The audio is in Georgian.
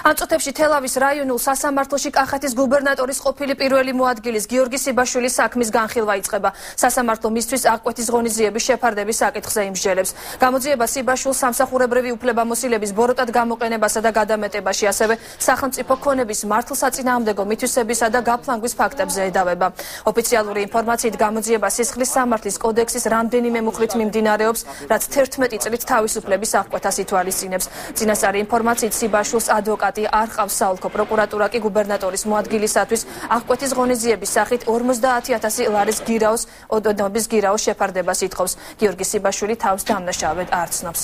ამ წუთებში თელავის რაიონულ სასამართლოში კახეთის გუბერნატორის ყოფილი პირველი მოადგილის გიორგი სიბაშვილის საქმის განხილვა იწყება. სასამართლო მისთვის აღკვეთის ღონისძიების შეფარდების საკითხზე იმსჯელებს. გამოძიება სიბაშვილს სამსახურებრივი უფლებამოსილების ბოროტად გამოყენებასა და გადამეტებაში, ასევე სახელმწიფო ქონების მართლსაწინააღმდეგო მითვისებისა და გაფლანგვის ფაქტებზე ედავება. ოფიციალური ინფორმაციით გამოძიება სისხლის სამართლის კოდექსის რამდენიმე მუხლით მიმდინარეობს, რაც 11 წლით თავისუფლების აღკვეთას ითვალისწინებს. წინასწარი ინფორმაციით სიბაშვილს ადვოკატი არ ყავს საოლქო პროკურატურა კი გუბერნატორის მოადგილისათვის აღკვეთის ღონისძიების სახით 50,000 ლარის გირაოს ოდნობის გირაოს შეფარდებას ითხოვს. გიორგი სიბაშვილი თავს დამნაშავედ არ ცნობს.